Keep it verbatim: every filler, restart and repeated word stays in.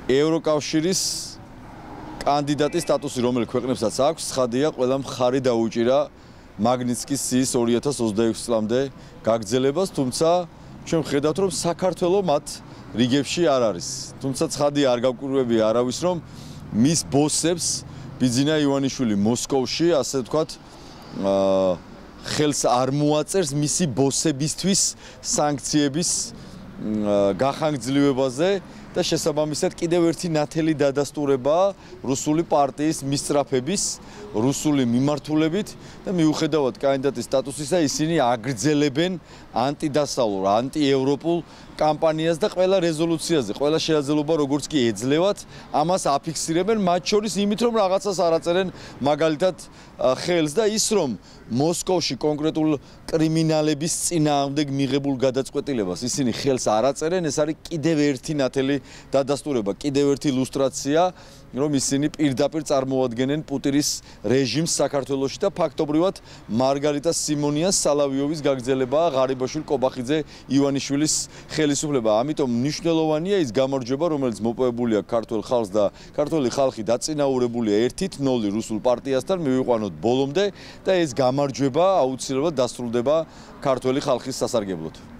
ევროკავშირის კანდიდატის სტატუსი, რომელიც ქვეყნებსაც აქვს, ცხადია, ყველა მხარი დაუჭირა მაგნიტსკის სიის ორი ათას ოცდაექვსი წლამდე გაგრძელებას, თუმცა ჩვენ ვხედავთ, რომ საქართველო მათ რიგებში არ არის. თუმცა ცხადია, არ გავკვირვებია არავის, რომ მის ბოსებს ბიძინა ივანიშვილი მოსკოვში, ასე ვთქვათ, ხელს არ მოაწერს მისი ბოსებისთვის სანქციების გახანგრძლივებაზე და შესაბამისად კიდევ ერთი ნათელი დადასტურება რუსული პარტიის მისწრაფების, რუსული მიმართულებით და მიუხედავად კანდიდატის სტატუსისა ისინი აგრძელებენ ანტიდასავლურ, ანტიევროპულ კამპანიას და ყველა რეზოლუციაზე, ყველა შეაძლებლობა როგორც კი ეძლევათ, ამას აფიქსირებენ, მათ შორის იმით, რომ რაღაცას არ აწერენ მაგალითად ხელს და ის რომ მოსკოვში კონკრეტულ კრიმინალების წინააღმდეგ მიღებულ გადაწყვეტილებას ისინი ხელს არ აწერენ, ეს არის კიდევ ერთი ნათელი დადასტურება, კიდევ ერთი ილუსტრაცია, რომ ისინი პირდაპირ წარმოადგენენ პუტინის რეჟიმს საქართველოში და ფაქტობრივად მარგარიტა სიმონიას, სალავიოვის გაგრძელებაა ღარიბაშვილი, კობახიძე, ივანიშვილის ხელისუფლება. ამიტომ მნიშვნელოვანია ის გამარჯვება, რომელიც მოპოვებული აქვს ქართულ ხალხს და ქართული ხალხი დაწინაურებულია ერთით ნოლი რუსულ პარტიასთან, მივიყვანოთ ბოლომდე და ეს გამარჯვება აუცილებლად დასრულდება ქართველი ხალხის სასარგებლოდ.